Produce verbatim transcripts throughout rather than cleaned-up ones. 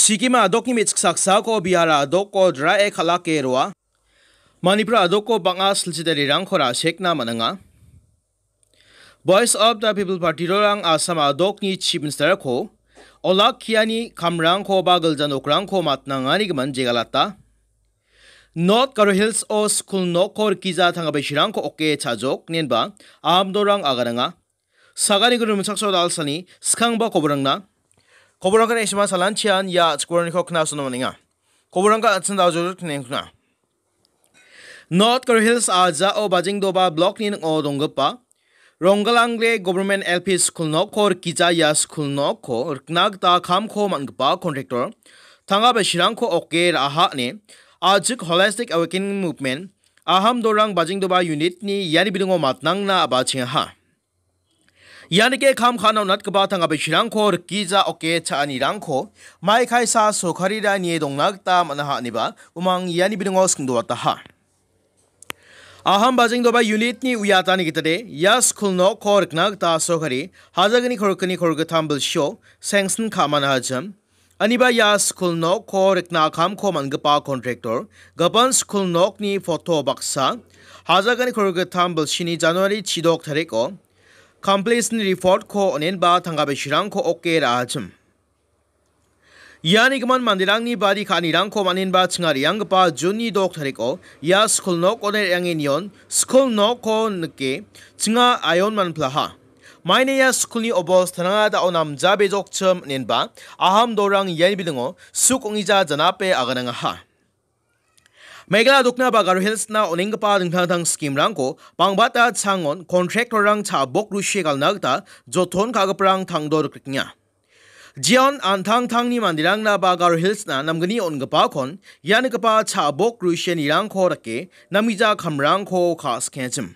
Sikkim adokni me·chik saksako Bihar adoko drae kal·ake roa. Manipur adoko bang·a silchidarirangko ra·sekna man·enga. Voice of the People Party-rang Assam adokni Chief Minister-ko olakkiani kamrangko ba gilja nokrangko matnangani gimin jegalata. North Garo Hills-o skul nokko rikgija tangka beshirangko oke cha·jok inenba ahamdorang aganenga. Sagani guru rimchakso dalsani skangba koborangna. Koborangkan esima salanchian ia chikboraniko knasona man·enga. Koborangkan atsin daljor knengkna. North Garo Hills ajao Bajengdoba Block-ni ning·o donggipa Ronggalangre Government L P School nokko rikgija ia skul nokko rikna gita kamko man·gipa contractor tangka beshirangko oke ra·aha ine Ajik Holistic Awakening Movement Ahamdorang Bajengdoba Unit-ni iani bidingo matnangna a·bachengaha. Ianike kam ka·na on·atgipa tangka beshirangko rikgija oke cha·anirangko mai kaisa sorkarira nie dongna gita man·aha ineba umang iani bidingo singdoataha. Aham Bajengdoba Unit-ni uiatani gitade ia skul nokko rikna gita sorkari hajagni korikni korigittam bilsio sanction ka·mana hajim. Aniba ia skul nokko rikna kamko man·gipa contractor, gipin skul nokni photo baksa, hajagni korigittam bilsini January chidok tariko, completion report-ko on·enba tangka beshirangko oke ra·achim. Iani gimin manderangni bari ka·anirangko man·enba chinga re·anggipa June-ni dok tariko ia skul nok on·e re·ange nion skul nokko nike chinga aion manplaha. Maina ia skulni obostaranga da·o namjabejokchim inenba ahamdorang iani bidingo suk ong·ija janape aganangaha. Meghalaya dokna ba Garo Hills-na on·enggipa dingtang dingtang scheme-rangko bangbata changon contractor-rang cha·bok rusie galna gita joton ka·giparang tangdo rikrikenga. Jeon an·tangtangni manderangna ba Garo Hills-na namgni on·gipakon ia nikgipa cha·bok rusienirangko rike namgija kamrangko ka·sikenchim.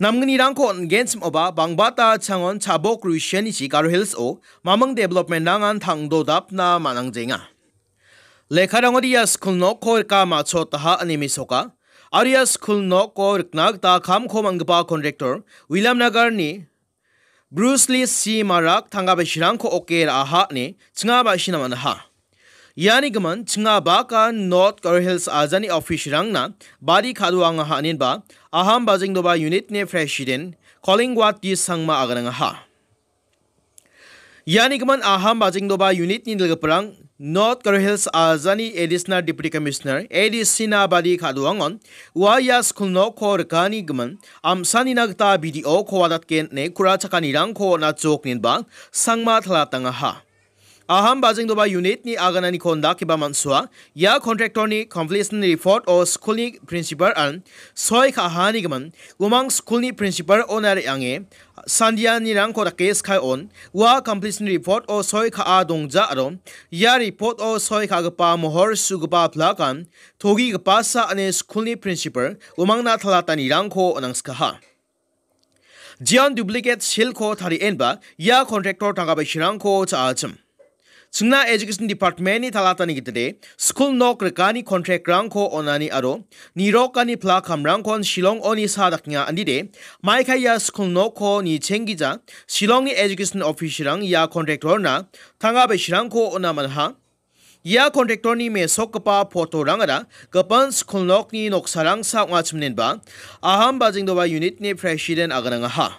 Namgnirangko on·genchim oba bangbata changon cha·bok rusianichi Garo Hills-o maming development-rangan tangdodapna man·angjenga. Lekkarangode ia skul nokko rika ma·chotaha ine mesoka. Aro ia skul nokko rikna gita kamko man·gipa contractor William Nagarni Bruce Lee C Marak tangka beshirangko oke ra·aha ine chinga ba·sina man·aha. Iani gimin chinga baka North Garo Hills ajani office-rangna bari ka·doangaha inenba Aham Bajengdoba Unit-ni President Kolingwat D Sangma aganangaha. Iani gimin Aham Bajengdoba Unit-ni dilgiparang North Garo Hills ajani Additional Deputy Commissioner, A D C-na bari ka·doangon ua ia skul nokko rikani gimin am·sanina gita B D O-ko wadatgen ine kura chakanirangko on·achok inenba Sangma talatangaha. Aham Bajengdoba Unit-ni agananiko indakeba man·soa, ia contractor-ni completion report-o skulni principal-an soi ka·ahani gimin, umang skulni principal-ona re·ange sandianirangko dake sky on, ua completion report-o soi ka·a dongja aro ia report-o soi ka·gipa mohor su·gipa plakan togigipasa ine skulni principal umangna talatanirangko on·angskaha. Jeon duplicate seal-ko tarienba ia contractor tangka beshirangko cha·achim. Chingna Education Department-ni talatani gitade skul nok rikani contract-rangko on·ani aro nirokani plakamrangkon Shillong-oni sa dakenga andide maikai ia skul nokko nichenggija Shillong-ni education officer-rang ia contractor-na tangka beshirangko on·a man·aha. Ia contractor-ni mesokgipa photo-rangara gipin skul nokni noksarangsa ong·achim inenba Aham Bajengdoba Unit-ni President aganangaha.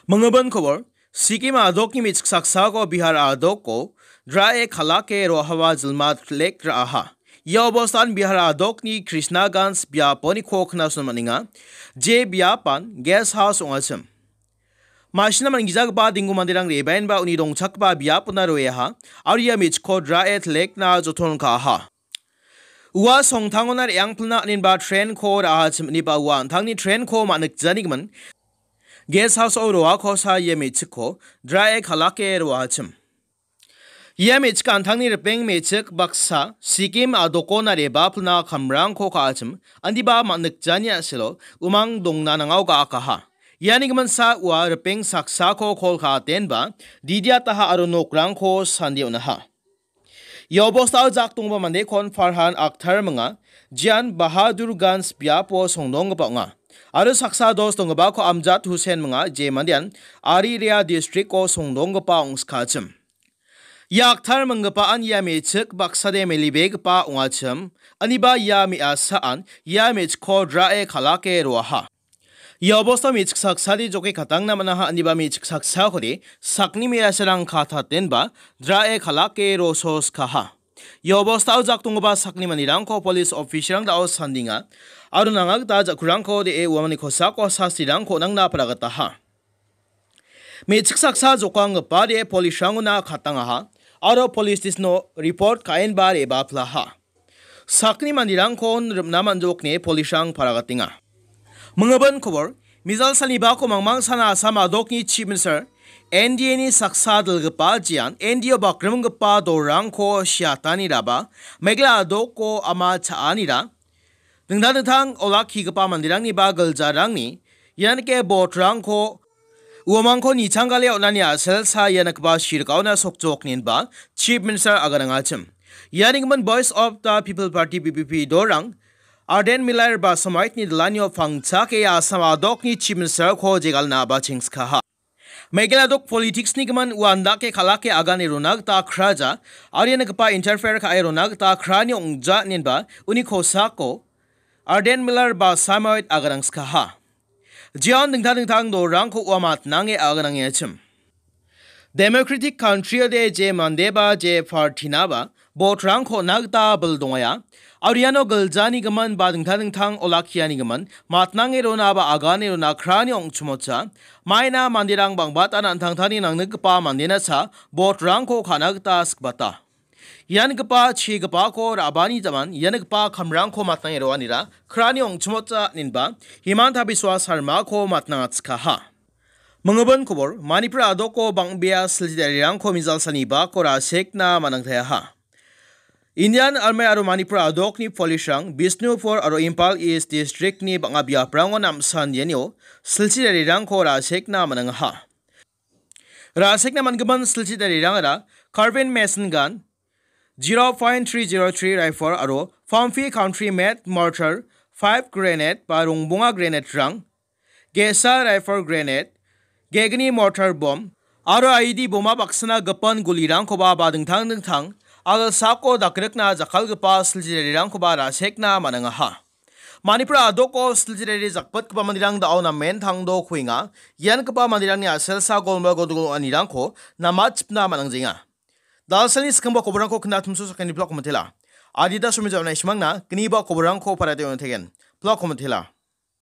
Mingibin kobor, Sikkim adokni me·chik saksako Bihar adoko drae kal·ake rohaba jilma lek ra·aha. Ia obostan Bihar adokni Krishnaganj biaponiko knasona man·enga. Je biapan guest house ong·achim. Ma·sina man·gijagipa dinggu manderang rebaenba uni dongchakgipa biapona roeaha, aro ia me·chikko drae telekna joton ka·aha. Ua songtangona re·angpilna inenba train-ko ra·achim ineba ua an·tangni train-ko ma·nikjanigimin guest house-o roakosa ia me·chikko drae kal·ake roachim. Ia me·chik an·tangni ripeng me·chik baksa Sikkim adokona re·bapilna kamrangko ka·achim, indiba man·nikjani a·selo umang dongna nangao ga·akaha. Iani giminsa ua ripeng saksako kol ka·atenba didiataha aro nokrangko sandie on·aha. Ia obostao jak donggipa mandekon Farhan Akhtar minga, jean Bahadurganj biapo songdonggipa ong·a. Aro saksa dos donggipako Amjad Hussain minga, je mandean Ari Rea district-o songdonggipa ong·skachim. Ia aktar minggipaan ia me·chik baksade melibegipa ong·achim, aniba ia me·asaan ia me·chikko drae kal·ake roaha. Ia obostao me·chik saksade joke katangna man·aha, aniba me·chik saksakode sakni me·asarang katatenba drae kal·ake rososkaha. Ia obostao jak donggipa sakni manderangko polis officialrang da·o sandenga aro nanga gita jakkurangko de·e uamangni kosako sastirangko nangna paragataha. Me·chik saksa jokanggipade polisrangona katangaha aro polis station-o report ka·enba re·baplaha. Sakni manderangkon rim·na man·jokne polisrang paragatenga. Mingibin kobor, mijal salnibako mangmang sana Assam adokni Chief Minister N D A-ni saksa dilgipa jean N D A-o bakrimgipa dolrangko siataniraba, Meghalaya adoko ama cha·anira, dingtang dingtang olakkigipa manderangniba giljarangni ianike botrangko uamangko nichangale on·ani a·selsa ia nikgipa sirkaona sokjokninba Chief Minister aganangachim. Iani gimin Voice of the People Party, V P P, dorang Ardent Miller Basamaitni dilanio pangchake Assam adokni Chief Ministerko jegalna bachengskaha. Meghalaya dok politics-ni gimin uandake kal·ake agane rona gita kraja, aro ia nikgipa interfere ka·e rona gita krani ong·ja inenba uni kosako Ardent Miller Basamaoit aganangskaha. Jeon dingtang dingtang dolrangko ua matnange aganangengachim. Democratic country-ode je mandeba je party-naba botrangko on·a gita bil dongaia. Aro iano giljani gimin ba dingtang dingtang olakkiani gimin matnange rona ba agane rona krani ong·chimocha. Maina manderang bang·batan an·tangtangni nangnikgipa mandenasa botrangko ka·na gita sikbata. Iangipa chigipako ra·bani jaman iangipa kamrangko matnange roanira krani ong·chimocha inenba Himanta Biswa Sarmako matnangatskaha. Mingibin kobor, Manipur adoko bang·bea silchi darirangko mijal salnibako rasekna man·angtaeaha. Indian Army aro Manipur adokni polisrang Bishnupur aro Imphal East District-ni bang·a biaprango namsan ianio silchi darirangko rasekna man·angaha. Rasekna man·gimin silchi darirangara carbine machine gun, zero point three zero three rifle aro Pampi country made mortar, five grenade ba rongbonga grenade-rang, ge·sa rifle grenade, ge·gni mortar bomb, aro I E D boma baksana gipin gulirangkoba ba dingtang dingtang a·gilsako dakrikna jakkalgipa silchi darirangkoba rasekna man·angaha. Manipur adoko silchi dari jakpitgipa manderang da·o namen tangdo kuenga. Iangipa manderangni a·selsa golma godogol ong·anirangko namachipna man·angjenga. Dalsalni skangba koborangko knatumso sakani blog komitela. Adita somi jaona ismangna gniba koborangko parate on·tegen. Blog komitela.